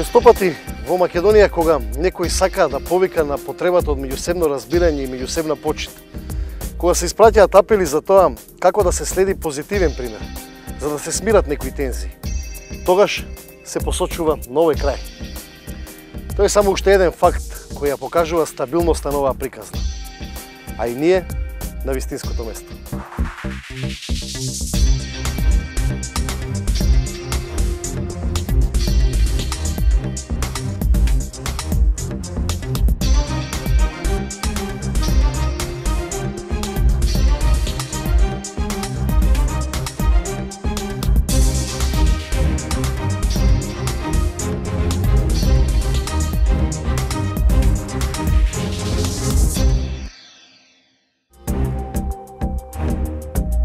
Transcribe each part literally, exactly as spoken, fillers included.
Честопати во Македонија, кога некој сака да повика на потребата од меѓусебно разбирање и меѓусебна почит, кога се испраќаат апели за тоа како да се следи позитивен пример, за да се смират некои тензии, тогаш се посочува на овој крај. Тоа е само уште еден факт кој ја покажува стабилноста на оваа приказна, а и ние на вистинското место.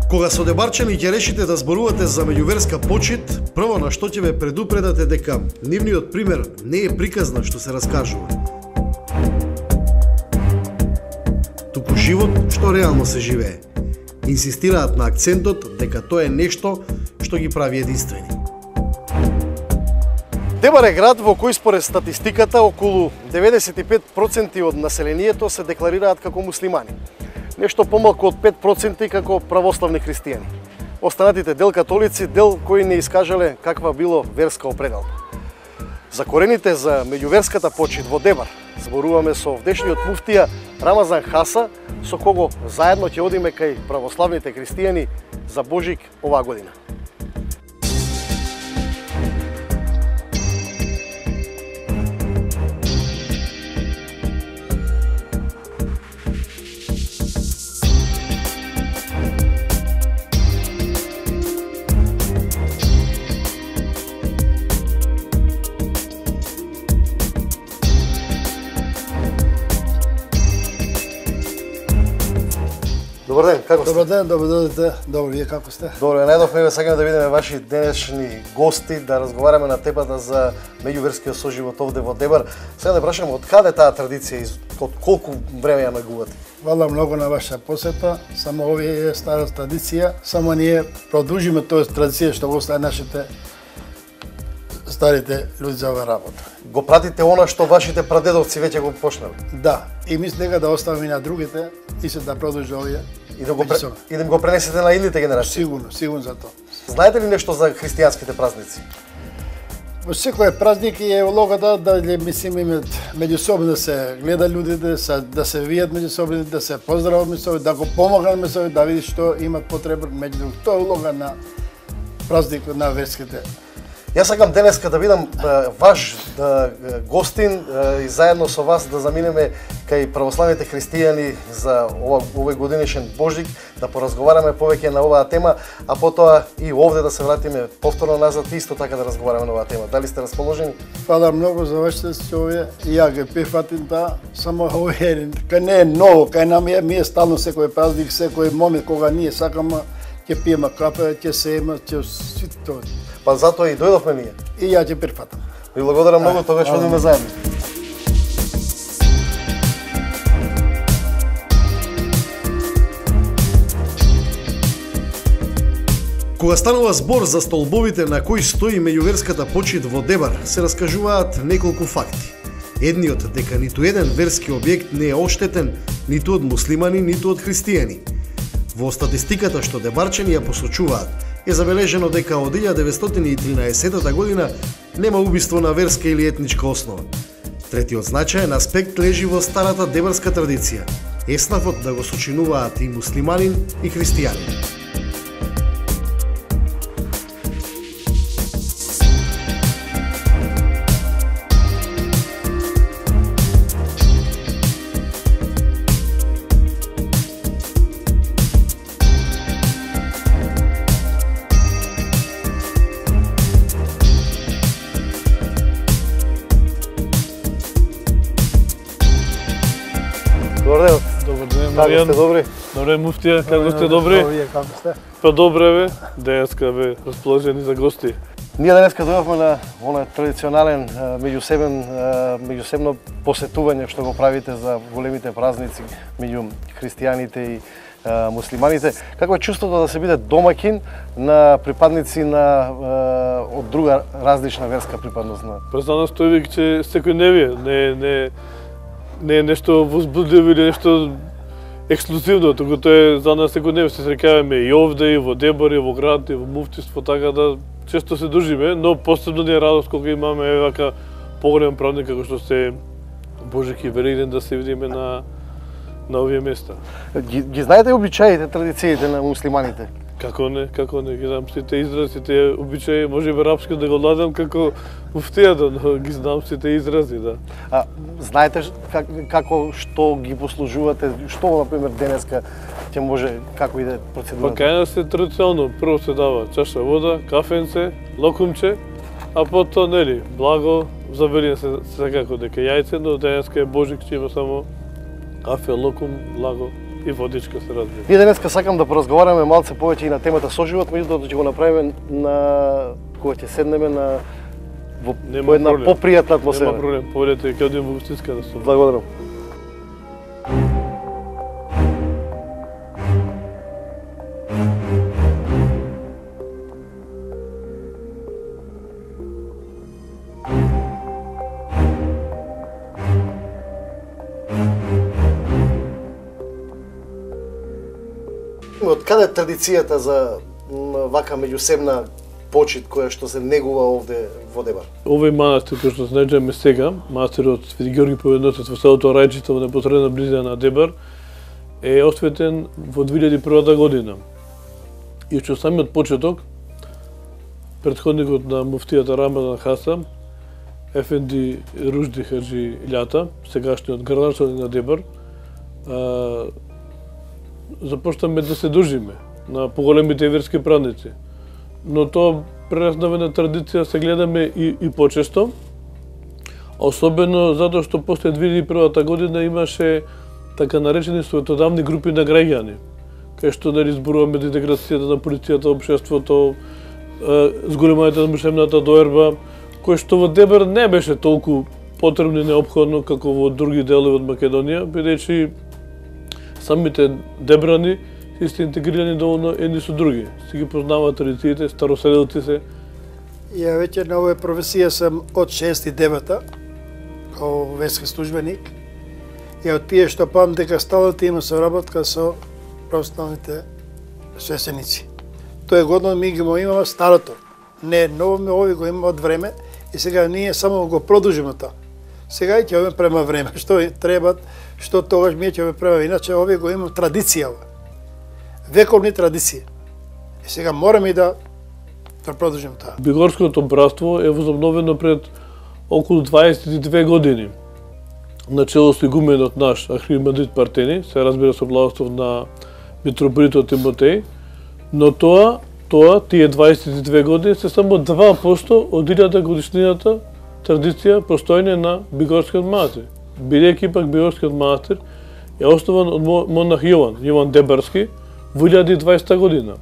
Кога со Дебарчани ќе решите да зборувате за меѓуверска почит, прво на што ќе ве предупредате дека нивниот пример не е приказна што се раскажува, туку живот што реално се живее. Инсистираат на акцентот дека тоа е нешто што ги прави единствени. Дебар е град во кој според статистиката околу деветдесет и пет проценти од населението се декларираат како муслимани. Нешто помалку од пет проценти како православни христијани. Останатите дел католици, дел кои не искажале каква било верска определба. За корените за меѓуверската почит во Дебар зборуваме со овдешниот муфтија Рамазан Хаса, со кого заедно ќе одиме кај православните христијани за Божик оваа година. Добар ден, како сте? Добар ден, добро дојдете. Добро, вие како сте? Добро, најдовме ве сакаме да видиме ваши денешни гости, да разговараме на темата за меѓуверскиот соживот овде во Дебар. Сега да прашаме од каде таа традиција и од колку време ја негувате? Фала многу на ваша посета. Само овие е стара традиција, само ние продолжиме тоа традиција што го остави нашите старите луѓе за оваа работа. Го пратите она што вашите прадедовци веќе го почнали? Да, и мислам дека да оставиме на другите и се да продолжи овие. И да го пре... и да го пренесете на идните генерации. Сигурно, сигурно за тоа. Знаете ли нешто за христијанските празници? Во секој празник е улогата да мислим имат меѓусобно да се гледа луѓето, да се видат меѓусобно, да се поздрават меѓусобно, да го помогнат меѓусобно, да види што имат потреба меѓу тоа е улога на празникот на верските. Јас сакам денеска да видам е, ваш да, гостин е, и заедно со вас да заминеме кај православните христијани за ова, овој годинешен Божик, да поразговараме повеќе на оваа тема, а потоа и овде да се вратиме повторно назад и исто така да разговараме на оваа тема. Дали сте расположени? Фала многу за вашите овие. Ја ги прифатим таа, само овие кај не е ново, кај нам е ми е стално секој празник, секој момент кога ние сакаме ќе пиеме кафе, ќе се има, ќе сите тоа. Па затоа и дојдовме ние. И ја ќе прифатам. Ви благодарам многу, тогаш одиме заедно. Кога станува збор за столбовите на кои стои меѓуверската почит во Дебар, се раскажуваат неколку факти. Едниот дека ниту еден верски објект не е оштетен ниту од муслимани, ниту од христијани. Во статистиката што Дебарчани ја посочуваат, е забележено дека од илјада деветстотини и тринаесетта година нема убиство на верска или етничка основа. Третиот значаен аспект лежи во старата дебарска традиција, еснафот да го сочинуваат и муслиманин и христијанин. Добар ден. Добар ден, Како Маријан. сте добри? Добре, муфтија, како сте добри? Вие како сте? Па добре бе, денеска бе расположени за гости. Ние денеска дојавме на оној традиционален меѓусебен меѓусебно посетување што го правите за големите празници меѓу христијаните и а, муслиманите. Какво е чувството да се биде домакин на припадници на а, од друга различна верска припадност? На... Па за нас тој веќе секојдневие, не не не е нешто возбудливо или нешто ексклузивно, туку тоа е за нас секојдневие, се среќаваме и овде, и во Дебар, и во град, и во муфтиство, така да често се дружиме, но посебно ни е радост кога имаме еве вака поголем празник како што се Божик и Великден да се видиме на на овие места. Ги, ги знаете обичаите, традициите на муслиманите? Како не, како не, ги знам сите изрази, сите обичаи, може би арапски да го ладам како муфтијата, но ги знам сите изрази, да. А, знаете как, како, што ги послужувате, што, например, денеска ќе може, како иде процедурата? Па кај нас е традиционално, прво се дава чаша вода, кафенце, локумче, а потоа, нели, благо, за Великден се секако дека јајце, но денеска е Божик, ќе има само кафе, локум, благо и водичка се разбира. Ние денеска сакам да поразговараме малце повеќе и на темата соживот, меѓутоа ќе го направиме на кога ќе седнеме на во по една попријатна атмосфера. Нема проблем, поведете ќе одиме во гостинска да се. Благодарам. Од каде е традицијата за вака меѓусебна почит која што се негува овде во Дебар? Овој манастир кој што се наоѓаме сега, манастирот Свети Георги Победоносец во селото Рајчица во непосредна близина на Дебар, е осветен во две илјади и прва година. И што самиот почеток, претходникот на муфтијата Рамадан Хасан, Ефенди Ружди Хаджи Илјата, сегашниот градоначалник на Дебар, започнаме да се дружиме на поголемите верски празници. Но тоа прераснава на традиција, се гледаме и, и почесто, особено затоа што после две илјади и прва година имаше така наречени светодавни групи на граѓани, кај што нели зборуваме за интеграцијата на полицијата, општеството, зголемувањето на мишемната доерба, кој што во Дебар не беше толку потребно и неопходно како во други делови од Македонија, бидејќи самите дебрани се интегрирани доволно едни со други. Си ги познаваат традициите, староселилци се. Ја веќе на овоја професија сам од шеснаесет и девета, као верски службеник. И од тие што памтам дека стално има соработка со православните свесеници. Тоа е годно ми ги имаме старото. Не ново, ми ови го имаме од време и сега ние само го продолжиме тоа. Сега ќе ове према време, што треба, што тогаш ми ќе ове према, иначе овие го имам традиција. Вековни традиции. И сега мораме и да да продолжим тоа. Бигорското братство е возобновено пред околу дваесет и две години. Начело со игуменот наш Архимандрит Партени, се разбира со благослов на митрополитот Тимотеј, но тоа, тоа, тие дваесет и две години се само два проценти од илјада годишнината традиција постојање на Бигорскиот манастир. Бидејќи пак Бигорскиот манастир е основан од монах Јован, Јован Дебарски, во илјада и дваесета година,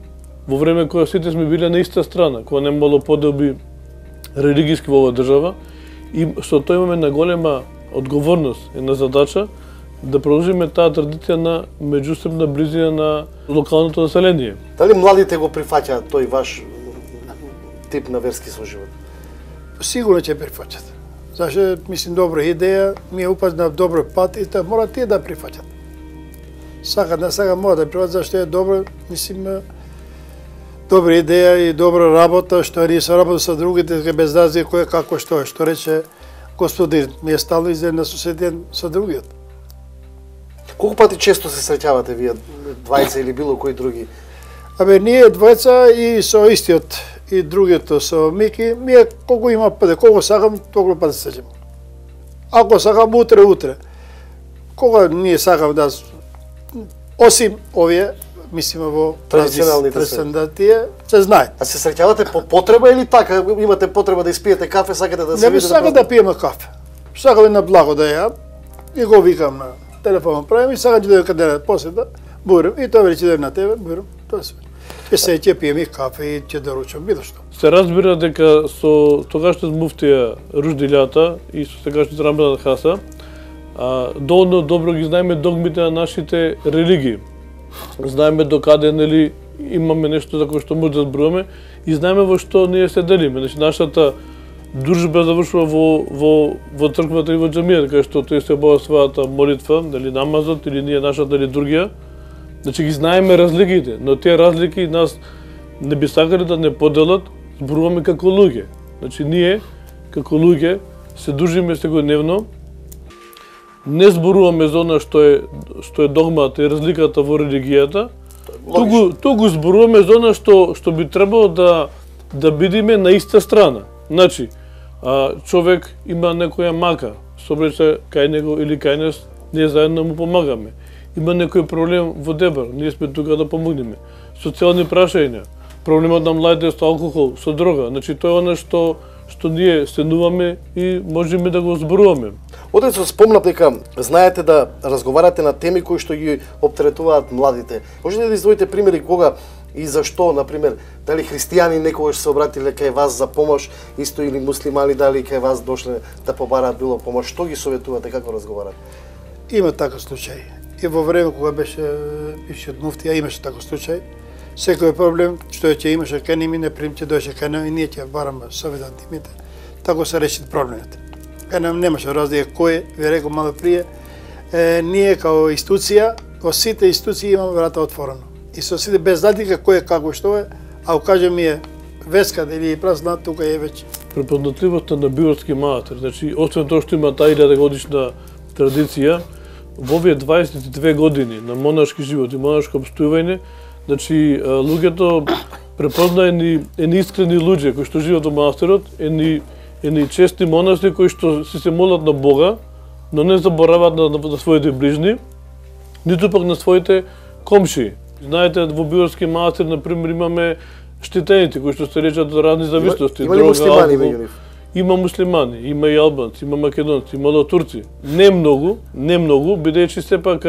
во време кога сите сме биле на иста страна, кога немало поделби религиски во оваа држава, и со тоа имаме на голема одговорност и на задача да продолжиме таа традиција на меѓусебна близина на локалното население. Дали младите го прифаќаат тој ваш тип на верски соживот? Сигурно ќе прифаќат. Зашто мислим добра идеја, ми е упат на добро пат и тоа мора тие да прифаќат. Сакат на сага мора да прифаќат зашто е добро, мислим добра идеја и добра работа, што ние се работа со другите без разлика кој како што е, што рече господин, ми е стално изеден соседен со другиот. Колку пати често се среќавате вие двајца или било кои други? Абе, ние двајца и со истиот и другиот со Мики, ние колку има паде, колку сакам, толку пати се среќам. Ако сакам утре, утре. Кога ние сакам да, осим овие, мислиме во традиционалните тие, се знае. А се среќавате по потреба или така, имате потреба да испиете кафе, сакате да се видите? Не, сакам да пиеме кафе. Сакам на благо да ја, и го викам на телефон правим и сакам да каде после да бурим и тоа вече да на тебе, бурим, тоа се. И се ќе пиеме кафе и ќе доручам било што. Се разбира дека со тогашниот муфтија Ружди Илјата и со сегашниот Рамадан Хаса, доволно добро ги знаеме догмите на нашите религии. знаеме докаде нели имаме нешто за кое што може да зборуваме и знаеме во што ние се делиме. Значи нашата дружба завршува во во во црквата и во џамијата, кај што тој се обава својата молитва, дали намазот или ние нашата литургија. Значи ги знаеме разликите, но тие разлики нас не би сакале да не поделат, зборуваме како луѓе. Значи ние како луѓе се дружиме секојдневно. Не зборуваме за она што е што е догмата и разликата во религијата. Туку туку зборуваме за она што што би требало да да бидеме на иста страна. Значи, а, човек има некоја мака, собрече кај него или кај нас, ние заедно му помагаме. Има некој проблем во Дебар, ние сме тука да помогнеме. Социјални прашања, проблемот на младите со алкохол, со дрога, значи тоа е она што што ние стенуваме и можеме да го зборуваме. Отец, спомнав дека знаете да разговарате на теми кои што ги оптеретуваат младите. Можете да издвоите примери кога и зашто, например, дали христијани некогаш се обратиле кај вас за помош, исто или муслимани дали кај вас дошле да побараат било помош, што ги советувате, како разговарате? Има таков случај. И во време кога беше бившиот муфтија имаше таков случај. Секој проблем што ќе имаше кај ними не примте дојше кај нас и ние ќе бараме совет од димите. Тако се реши проблемот. Кај нам немаше разлика кој, ви реков мало прие, е, ние као институција, во сите институции имаме врата отворено. И со сите без разлика кој е како што е, а укаже ми е веска или празна, тука е веќе. Препознатливоста на биорски манастир, значи освен тоа што има таа илјада годишна традиција, во овие дваесет и две години на монашки живот и монашко обстојување, значи луѓето препозна едни, едни искрени луѓе кои што живеат во манастирот, едни, едни чести монаси кои што си се молат на Бога, но не забораваат на, на, на своите ближни, ниту пак на своите комши. Знаете, во биорски манастир, например, имаме штетените кои што се лечат од разни зависности. Има ли муслимани меѓу нив? Има муслимани, има и албанци, има македонци, има турци. Не многу, не многу, бидејќи сепак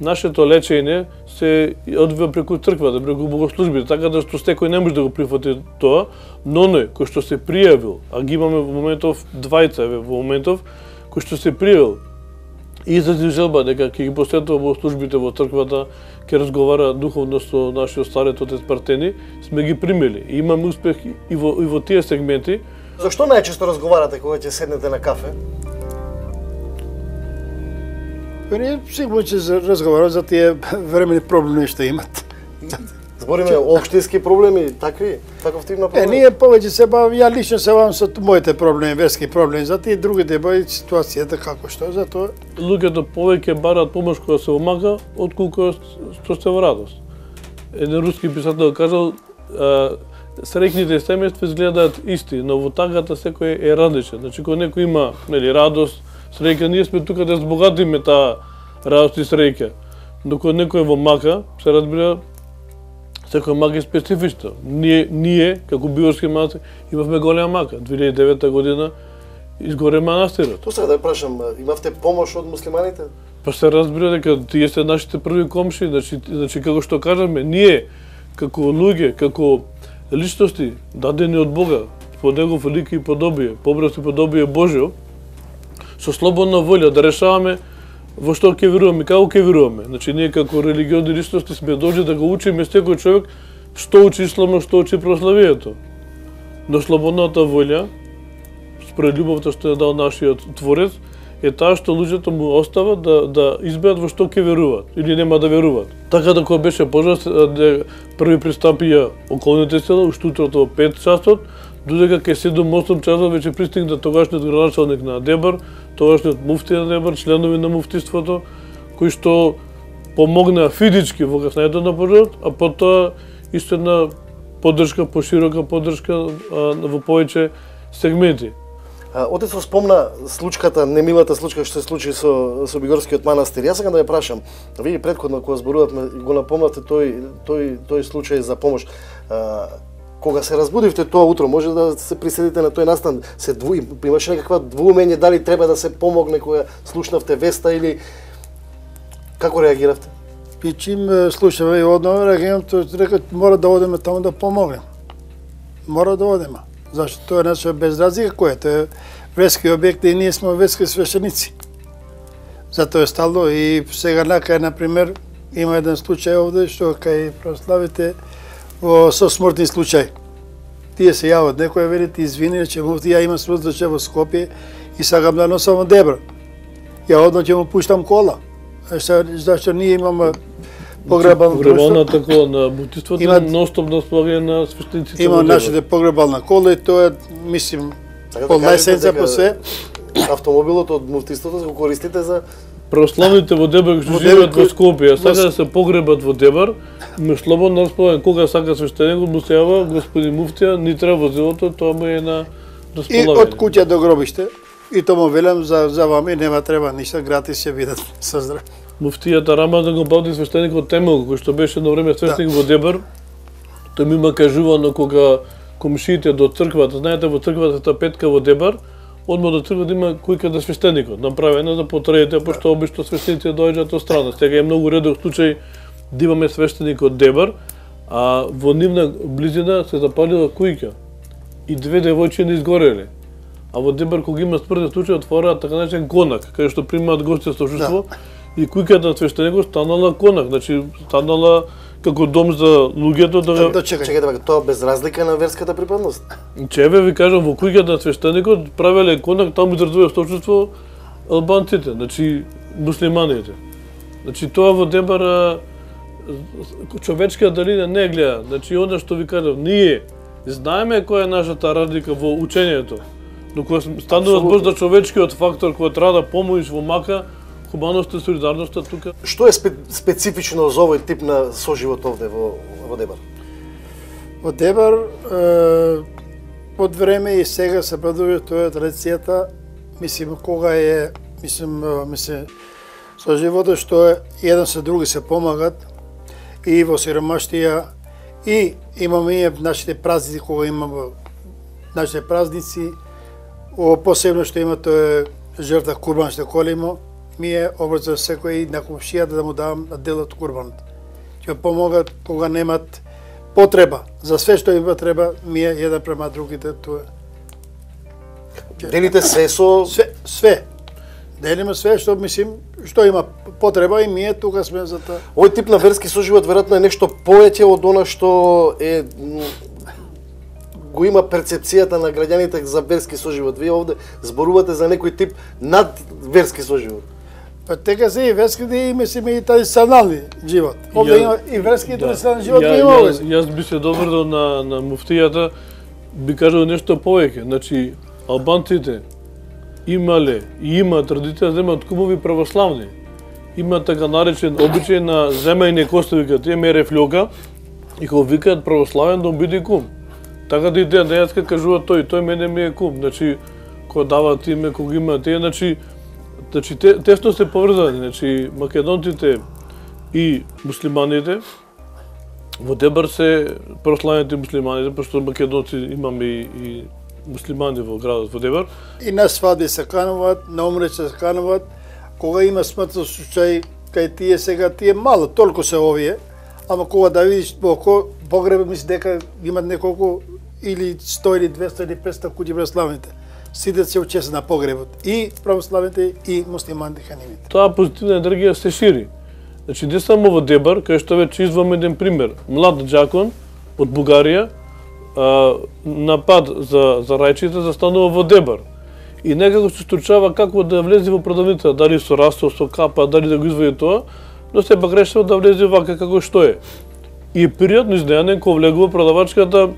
нашето лечење се одвива преку црквата, преку богослужбите, така да што секој не може да го прифати тоа, но оној кој што се пријавил, а ги имаме во моментов двајца во моментов, кој што се пријавил и изрази желба дека ќе ги посетува богослужбите во црквата, ќе разговара духовно со нашиот старец отец Партени, сме ги примили. И имаме успех и во, и во тие сегменти. Зашто најчесто разговарате кога ќе седнете на кафе? Ние сигурно ќе разговараме за тие времени проблеми што имат. Збориме општински проблеми, такви, таков тип на проблеми? Е, ние повеќе се бавам, ја лично се бавам со моите проблеми, верски проблеми, за тие другите бави ситуацијата како што, затоа луѓето повеќе бараат помош кога се омака, отколку што се во радост. Еден руски писател кажал, среќните семејства изгледаат исти, но во тагата секој е различен. Значи, кога некој има нели радост, среќа, ние сме тука да збогатиме таа радост и среќа. Но кога некој е во мака, се разбира, секој мака е специфична. Ние, ние како биорски манастир, имавме голема мака. две илјади и девета година изгоре манастирот. Тоа сега да прашам, имавте помош од муслиманите? Па се разбира дека тие се нашите први комши, значи, значи како што кажаме, ние како луѓе, како личности дадени од Бога, по негов лик и подобие, по образ и подобие Божјо, со слободна волја да решаваме во што ќе веруваме, како ќе веруваме. Значи, ние како религиозни личности сме должни да го учиме секој човек што учи исламот, што учи православието. Но слободната волја, според љубовта што е дал нашиот Творец, е таа што луѓето му остават да, да изберат во што ќе веруваат или нема да веруваат. Така да кога беше пожар, први пристапија околните села, уште утрото во пет часот, додека кај седум-осум часот веќе пристигна тогашниот градоначалник на Дебар, тогашниот муфти на Дебар, членови на муфтиството, кои што помогнаа физички во каснајето на пожарот, а потоа исто една поддршка, поширока поддршка во повеќе сегменти. Отецот спомна случката, немилата случка што се случи со, со Бигорскиот манастир. Јас сакам да ја прашам, вие претходно кога зборувавме го напомнавте тој, тој, тој случај за помош. А, кога се разбудивте тоа утро, може да се приседите на тој настан, се дву, имаше некаква двоумење дали треба да се помогне кога слушнавте веста или како реагиравте? И чим слушаме и одново реагирам, тој река мора да одиме таму да помогнем. Мора да одиме. Зашто тоа е наше без разлика кој е, тоа е верски објект и ние сме верски свещеници. Затоа е стално и сега накај, например, има еден случај овде што кај православите во со смртни случај. Тие се јават, некој вели ти извини, че муфти ја имам смртни случај во Скопје и сакам да носам во Дебр. Ја одно ќе му пуштам кола. Зашто ние имаме погребално друштво. Погребалната кола на муфтиството Има- ностоп на сплагање на свештениците. Има во Дебар. нашите погребална кола и тоа е, мислим, Така да по кажете најсенца дека по све. Автомобилот од муфтиството го користите за Православните во Дебар што Во живеат Дебар, во Скопје, а сака во- да се погребат во Дебар, ме слободно располагање кога сака свештеникот му се јава господин муфтија, ни треба возилото, тоа му е на И располагање. од куќа до гробиште. И тоа му велам за за вами нема треба ништо, гратис ќе бидат со здраво. Муфтијата Рамадан го бавди свештеникот Темел, кој што беше на време свештеник во Дебар. Тој ми има кажувано кога комшиите до црквата, знаете во црквата та петка во Дебар, одма до црквата има којка да свештеникот, направена за потреите, пошто обично свештеници доаѓаат од страна. Сега е многу редок случај да имаме свештеник од Дебар, а во нивна близина се запалила кујка и две девојчиња изгореле. А во Дебар кога има смртен случај отвораат така наречен конак, каде што примаат гости со чувство, и кујката на свештеникот станала конак, значи станала како дом за луѓето да Да го... чекај. Чекајте, бе, тоа без разлика на верската припадност. Чеве ви кажам, во кујката на свештеникот правеле конак, таму изразуваа сточувство албанците, значи муслиманите. Значи тоа во Дебар а, човечка далина не гледа. Значи она што ви кажам, ние знаеме која е нашата разлика во учењето. Но кога станува збор за човечкиот фактор кој треба да помогнеш во мака, хуманоста и солидарноста тука. Што е спе, специфично за овој тип на соживот овде во, во Дебар? Во Дебар, е, од време и сега се продолжува тоа традицијата, мислим кога е, мислим, е, мислим со животот што е еден со други се помагат и во сиромаштија и имаме и нашите празници кога имаме нашите празници, о посебно што има тоа е жртва курбан што колимо, ми е обрзо секој и на комшијата да му давам дел од курбанот. Ќе помогат кога немат потреба. За све што има треба, ми е еден према другите, тоа. Делите се со... Све, све. Делиме све што мислим, што има потреба и ние тука сме за тоа. Овој тип на верски соживот веројатно е нешто повеќе од она што е м, го има перцепцијата на граѓаните за верски соживот. Вие овде зборувате за некој тип над верски соживот. Па така се и верските и мислиме и традиционални живот. Овде Ја- има и верски и Да. традиционални живот Ја- има јас, овде. јас би се доврдал на, на муфтијата, би кажал нешто повеќе. Значи, албанците имале и има традиција да имаат кумови православни. Има така наречен обичај на земејни кости, викаат, тие мере флјока и кога викаат православен да му биде кум. Така да и ден денеска кажува тој, тој мене ми е кум. Значи, кога даваат име, кога има тие, значи, значи те, тесно се поврзани, значи македонците и муслиманите. Во Дебар се православните муслиманите, пошто македонци имаме и, и муслимани во градот во Дебар. И на свадби се кануваат, на умреće се кануваат. Кога има смртен случај, кај тие сега, тие мало, толку се овие, ама кога да видиш поко, погреб мисли дека имат неколку или сто или двесто или петсто куќи православните. Сите се учеса на погребот. И православните и муслиманите ханимите. Таа позитивна енергија се шири. Значи, не само во Дебар, кај што веќе извам еден пример. Млад џакон од Бугарија а, на пат за, за рајчите застанува во Дебар. И некако се стручава како да влезе во продавница, дали со растол, со капа, дали да го извади тоа, но сепак решава да влезе вака како што е. И е пријатно изненаден кога влегува продавачката,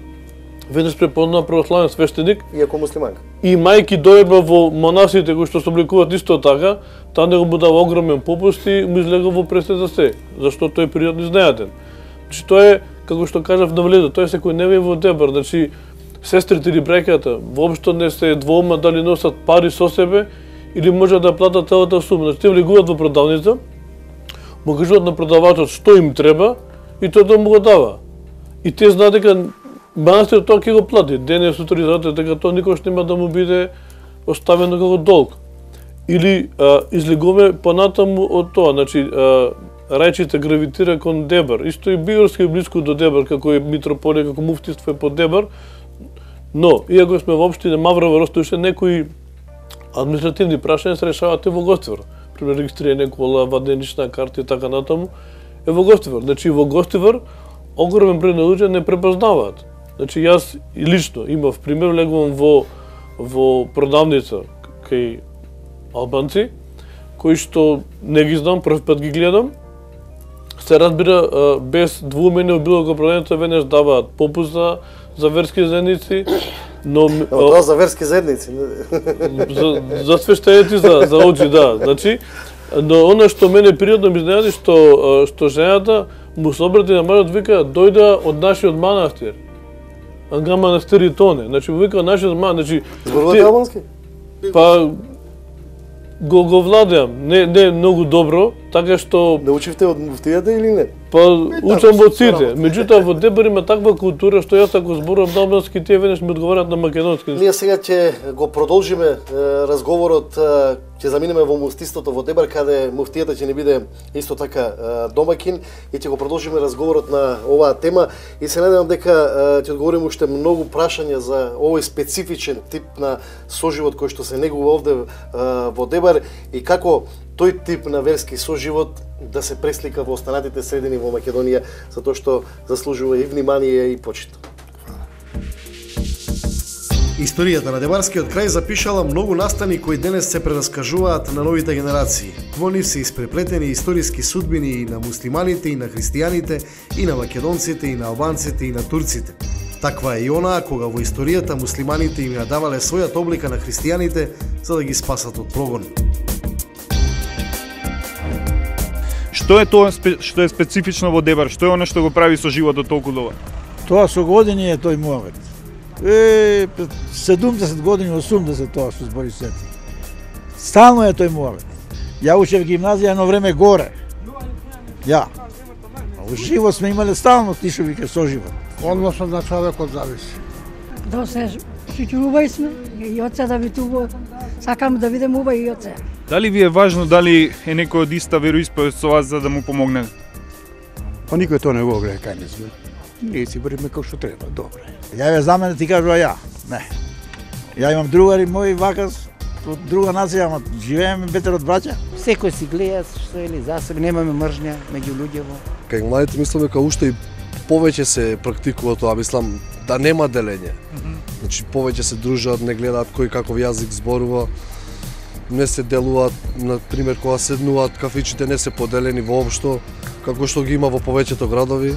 веднаш препознава православен свештеник, Иако муслиманка. и мајки дојба во монасите кои што се обликуваат исто така, таа него му дава огромен попуст и му излега во престе за се, зашто тој е пријатно изненаден. Значи тоа е, како што кажав на влезот, тоа е секојдневие во Дебар, значи сестрите или браќата воопшто не се двоума дали носат пари со себе или може да платат целата сума. Значи те влегуваат во продавница, му кажуваат на продавачот што им треба и тој да му го дава. И те знаат дека манастирот тоа ќе го плати. Денес авторизатот дека тоа никош нема да му биде оставено како долг. Или а, излегуваме понатаму од тоа, значи а, рајчите гравитира кон Дебар. Исто и Бигорски е блиску до Дебар, како е митрополија, како муфтиство е под Дебар. Но, иако сме во општина Маврово, Ростовище, некои административни прашања се решаваат и во Гоствер. Пример, регистрирање кола, ваденична карта и така натаму. е во Гостивар. Значи во Гостивар огромен број на луѓе не препознаваат. Значи јас и лично имав пример, легувам во во продавница кај албанци, кои што не ги знам, прв пат ги гледам. Се разбира, без двумење во било кој продавница веднаш даваат попуст за, за верски заедници, но... Но тоа за верски заедници. За, за свештеници, за, за очи, да. Значи, но она што мене пријатно ми изненади, што, што жената му се обрати на мажот, вика, дојда од нашиот манастир. Анга манастир и тоне. Значи, вика, нашиот манастир. Значи, зборувате албански? Па, го, го владеам. Не, не многу добро, така што... Да учивте од муфтијата или не? Па, учам во сите. Меѓутоа, во Дебар има таква култура, што јас ако зборувам на албански, тие веднаш ми одговарат на македонски. Ние сега ќе го продолжиме е, разговорот, е, ќе заминеме во муфтистото во Дебар, каде муфтијата ќе не биде исто така е, домакин, и ќе го продолжиме разговорот на оваа тема, и се надевам дека е, ќе одговориме уште многу прашања за овој специфичен тип на соживот кој што се негува овде е, во Дебар, и како тој тип на верски соживот да се преслика во останатите средини во Македонија, затоа што заслужува и внимание и почит. Историјата на Дебарскиот крај запишала многу настани кои денес се прераскажуваат на новите генерации. Во нив се испреплетени историски судбини и на муслиманите, и на христијаните, и на македонците, и на албанците, и на турците. Таква е и онаа кога во историјата муслиманите им ја давале својата облика на христијаните за да ги спасат од прогон. Што е тоа што е специфично во Дебар? Што е она што го прави со животот толку добар? Тоа со години е тој муавет. Е, седумдесет години, осумдесет тоа што збори сети. Стално е тој муавет. Ја учев гимназија едно време горе. Ја. А во живот сме имале стално тишови ке со живот. Односот на човекот зависи. Да се шуќувај сме, и оце да витува. Сакам да видам уба и оце. Дали ви е важно дали е некој од иста вероисповест со вас за да му помогне? Па никој тоа не го гледа кај не сме. Ние си бориме како што треба, добре. Ја ве за мене ти кажува ја. Не. Ја имам другари мои вака од друга нација, ама живееме бетер од браќа. Секој си гледа што е ли за себе, немаме мржња меѓу луѓето. Кај младите мислам дека уште и повеќе се практикува тоа, мислам да нема делење. Mm -hmm. Значи повеќе се дружат, не гледаат кој каков јазик зборува. Не се делуваат, на пример, кога седнуваат, кафичите не се поделени воопшто, како што ги има во повеќето градови.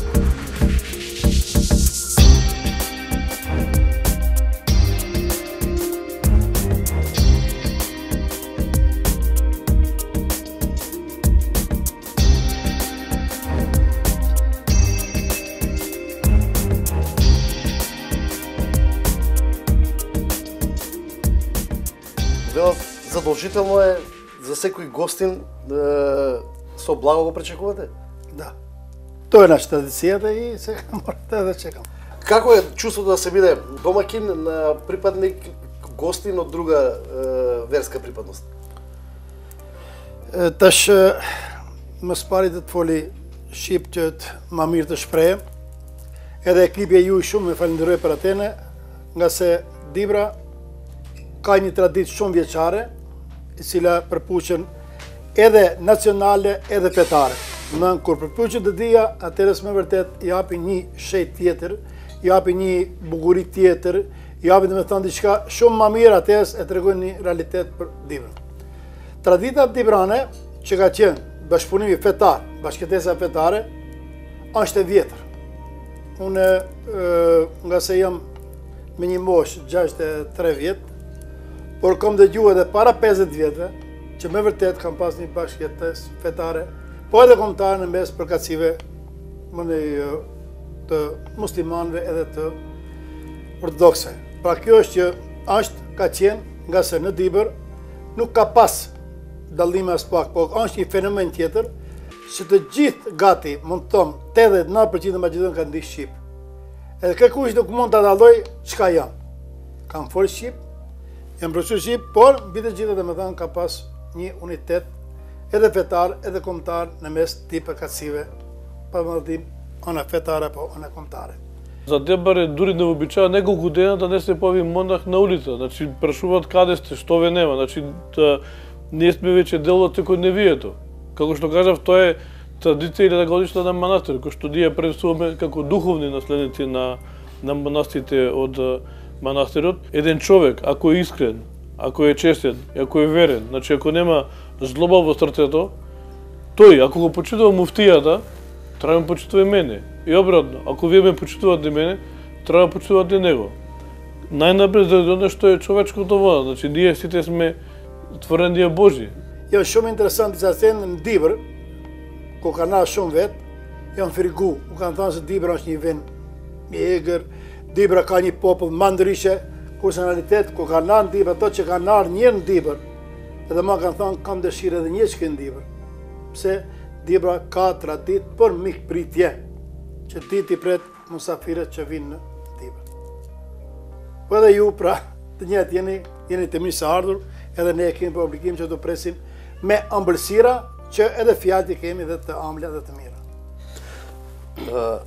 Задолжително е за секој гостин е, со благо го пречекувате? Да. Тоа е наша традицијата и сега морате да чекам. Како е чувството да се биде домакин на припадник гостин од друга е, верска припадност? Tash më spari të të foli shqip që të ma mirë të shpreje. Edhe ekipi ju shumë me falenderoj për atene, nga se Dibra ka një traditë shumë vjeçare, e cila përpuqen edhe nacionale edhe fetare. Në kur përpuqen të dija, atëherës me vërtet japi një shet tjetër, japi një bukuri tjetër, japi dhe me thënë diçka shumë ma mirë, atëherës e tregojnë një realitet për Dibrën. Tradita dibrane, që ka qenë bashkëpunimi fetar, bashkëtesa fetare, është e vjetër. Unë, nga se jam me një moshë gjashtëdhjetë e tre vjetë, por kom dëgjuar edhe para pesëdhjetë vjetëve, që me vërtet kam pas një bashkëtesë fetare, po edhe kombëtare në mes përkatësive të muslimanëve edhe të ortodoksëve. Pra kjo është që është ka qenë, nga se në Dibër nuk ka pas dallime as pak, po është një fenomen tjetër, që të gjithë gati, mund të thonë, tetëdhjetë e nëntë përqind e Maqedonë kanë di shqip. Edhe kërkush nuk mund ta dalloj çka janë. Kanë folë shqip, janë përshkruar shqip, por mbi të gjitha domethënë ka pas një unitet edhe fetar, edhe kombëtar në mes të përkatësive, pa vëllim ona fetare apo ona kombëtare. За Дебар е дури невообичаено неколку дена да не се појави монах на улица. Значи прашуваат каде сте, што ве нема. Значи да, ние сме веќе дел од секојдневието. Како што кажав, тоа е традиција или годишна на манастир, кој што ние пренесуваме како духовни наследници на на монастите од манастирот. Еден човек, ако е искрен, ако е честен, ако е верен, значи ако нема злоба во срцето, тој, ако го почитува муфтијата, треба да ме почитува и мене. И обратно, ако вие ме почитувате мене, треба да почитувате него. Најнапред заради оно што е човечкото вода, значи ние сите сме творенија Божи. Ја shumë интересант за сен Дибër, ko ka na shumë vet, janë firgu. U kanë thënë se Dibra është një vend i egër, Dibra ka një popull më ndryshe, personalitet, ko ka na në Dibër, ato që kanë ardhur një në Dibër, edhe ma kanë thënë kam dëshirë edhe një që në Dibër. Pse Dibra ka tradit për mikpritje, që ti ti pret musafirët që vinë në Dibër. Po edhe ju pra, të njëjtë jeni, jeni të mirë së ardhur, edhe ne kemi për obligim që të presim me ëmbëlsira që edhe fjalët i kemi dhe të ëmbla dhe të mira. Uh,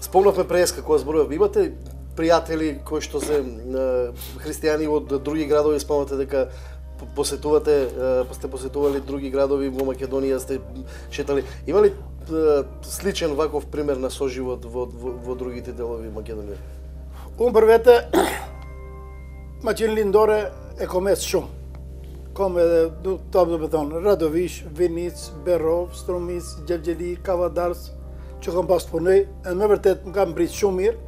Спомнавме преска кога зборував, имате пријатели кои што се uh, христијани од други градови, спомнате дека посетувате, uh, сте посетували други градови во Македонија, сте шетали. Има ли uh, сличен ваков пример на соживот во, во, во другите делови Македонија? Unë për vete, ma qenë lindore e komes shumë. Kom edhe, du të apë do me thonë, Radovish, Vinic, Berov, Stromic, Gjelgjeli, Kavadars, që kom pas të punoj, edhe me vërtet më kam mbritë shumë mirë.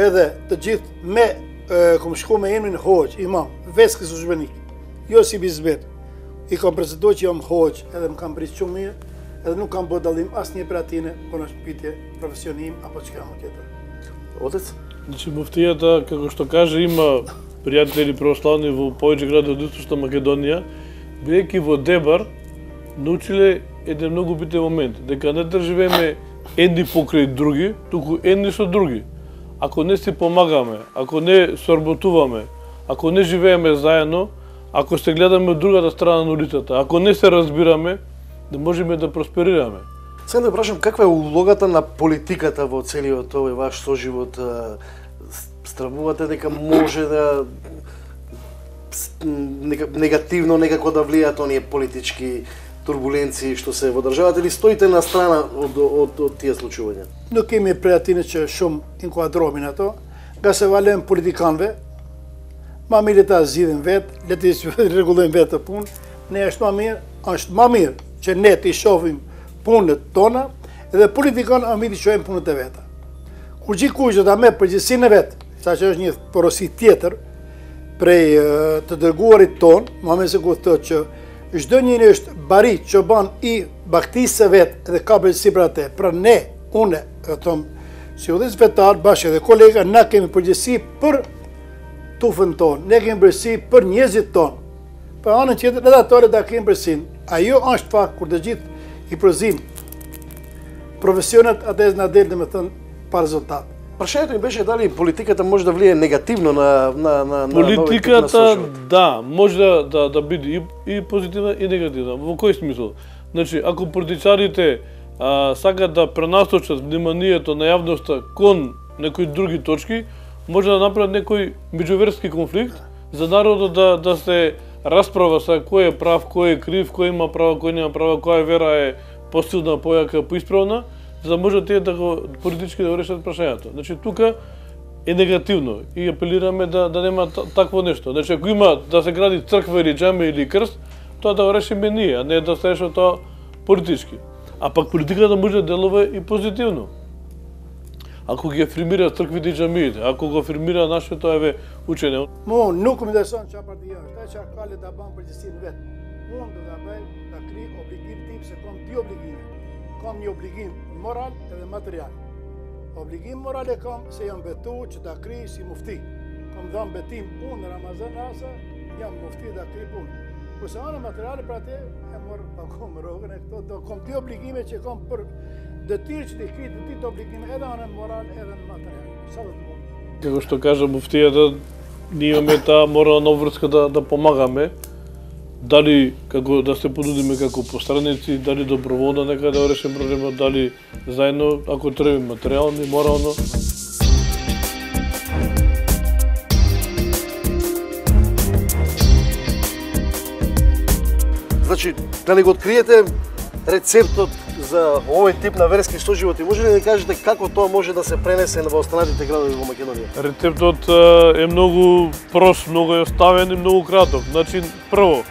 Edhe të gjithë me, e, kom shku me emrin Hoxh, imam, Veskës Uzbenik, jo si bizbet. I kom prezentuar që jam Hoxh, edhe më kam mbritë shumë mirë, edhe nuk kam bërë dallim asnjë për atine, por në shpitje profesionim, apo që kam tjetër. Отец? Значи муфтијата, како што каже, има пријатели православни во повеќе градови од Источна Македонија, бидејќи во Дебар научиле еден многу битен момент, дека не да живееме едни покрај други, туку едни со други. Ако не си помагаме, ако не соработуваме, ако не живееме заедно, ако се гледаме од другата страна на улицата, ако не се разбираме, да можеме да просперираме. Сега да прашам, каква е улогата на политиката во целиот овој ваш соживот? Стравувате дека може да негативно некако да влијаат оние политички турбуленции што се во државата, или стоите на страна од, од, од тие случувања? Nuk kemi prej atine që shumë inkuadromin ato, nga se valem politikanëve, ma mirë ta zgjidhin vetë, le të rregullojnë vetë të punë, ne është ma mirë, është ma mirë që ne të i shohim punët tona, edhe politikanë a mirë të shohim punët e veta. Kur gjikuj që ta me përgjithësinë e vetë, sa që është një porosi tjetër prej të dërguarit tonë, ma me se ku thotë që çdo njëri është bari çoban i baktisë së vet dhe ka përgjegjësi për atë. Pra ne, unë, e them, si udhëz vetar bashkë edhe kolega, na kemi përgjegjësi për tufën tonë, ne kemi përgjegjësi për njerëzit tonë. Për anën tjetër edhe ato da kemi përgjegjësinë. Ajo është fakt kur të gjithë i përzim profesionet atë na del domethënë pa rezultat. Прашањето ми беше дали политиката може да влие негативно на на на политиката, да, може да да, да биде и, и позитивна и негативна. Во кој смисол? Значи, ако политичарите а, сакат да пренасочат вниманието на јавноста кон некои други точки, може да направат некој меѓуверски конфликт за народот да да се расправа са кој е прав, кој е крив, кој има право, кој нема право, која вера е посилна, појака, поисправна, за да може тие да го политички да го решат прашањето. Значи тука е негативно и апелираме да да нема такво нешто. Значи ако има да се гради црква или џаме или крст, тоа да го решиме ние, а не да се реши тоа политички. А пак политиката може да делува и позитивно. Ако ги афирмира црквите и џамиите, ако го афирмира нашето еве учење. Mo nuk më dëshon çfarë partia është, ajo çfarë ka le ta bën përgjegjësinë vet. Unë do ta bëj ta krij obligim tim se kam dy obligime. Kam një obligim moral edhe material. Obligim moral e kam se jam betu që ta krij si mufti. Kam dhënë betim unë në Ramazan asa jam mufti ta krij punë. Kurse ana materiale për atë e morr pakom rrogën e këto do kam dy obligime që kam për detyrë që të krij dy të obligime edhe ana moral edhe material. Sa do të mund. Како што кажа муфтијата, ние имаме таа морална обврска да да помагаме. Дали како да се понудиме како посредници, дали доброволно нека да решиме проблемот, дали заедно, ако треба материјално и морално. Значи, дали го откриете рецептот за овој тип на верски соживот и може ли да кажете како тоа може да се пренесе во останатите градови во Македонија? Рецептот е многу прост, многу еноставен и многу краток. Значи, прво,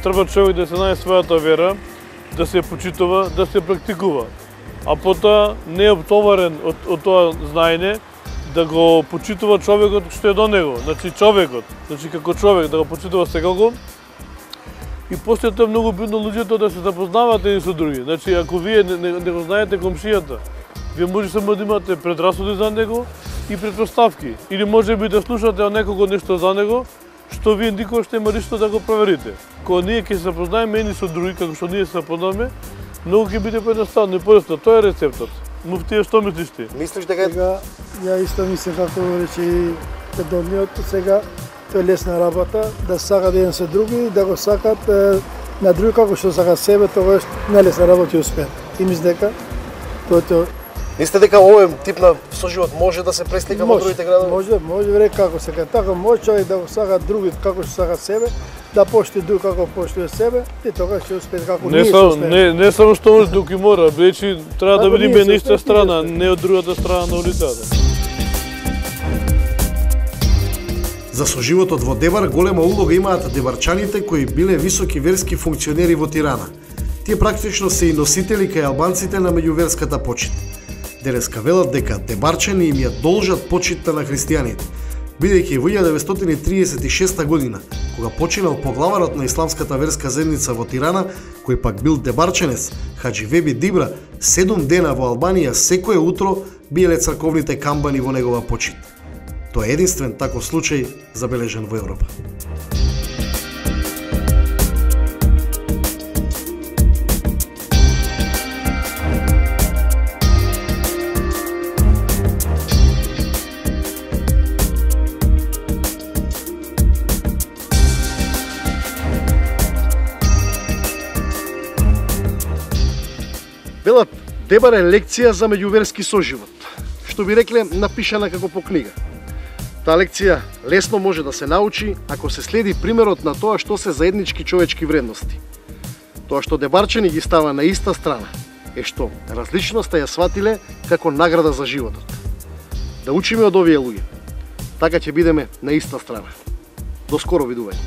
треба човек да се знае својата вера, да се почитува, да се практикува. А потоа не е обтоварен од, од тоа знаење, да го почитува човекот што е до него. Значи, човекот, значи како човек, да го почитува секако. И после тоа е многу битно луѓето да се запознават едни со други. Значи, ако вие не, не, не го знаете комшијата, вие може само да имате предрасуди за него и претпоставки. Или може би да слушате од некого нешто за него, што вие никогаш нема ништо да го проверите. Кога ние ќе се запознаеме едни со други, како што ние се запознаваме, многу ќе биде поедноставно и појасно. Тоа е рецептот. Муфтија, што мислиш ти? Мислиш дека Сега, ја исто мислам како речи предходниот, сега тоа е лесна работа, да сакат еден со други, да го сакат е, на други како што сакат себе, тоа е најлесна работа и успеат. И мислам дека тоа е тоа. мислите дека овој тип на соживот може да се преслика во другите градови? Може, може вре како се кај така може човек да го сака други како што сака себе, да поштуе друг како поштуе себе, и тогаш ќе успее како Не ние само успееме. не не само што може туку и мора, бидејќи треба да Ако видиме ние се на иста успееме, страна, ние не од другата страна на улицата. За соживотот во Дебар голема улога имаат дебарчаните кои биле високи верски функционери во Тирана. Тие практично се и носители кај албанците на меѓуверската почит. Денеска велат дека дебарчани им ја должат почитта на христијаните, бидејќи во илјада деветстотини триесет и шеста година, кога починал поглаварот на исламската верска заедница во Тирана, кој пак бил дебарченец, Хаджи Веби Дибра, седум дена во Албанија секое утро биеле црковните камбани во негова почит. Тоа е единствен таков случај забележен во Европа. Велат, Дебар е лекција за меѓуверски соживот, што би рекле напишана како по книга. Таа лекција лесно може да се научи ако се следи примерот на тоа што се заеднички човечки вредности. Тоа што дебарчани ги става на иста страна е што различноста ја сватиле како награда за животот. Да учиме од овие луѓе. Така ќе бидеме на иста страна. До скоро видување.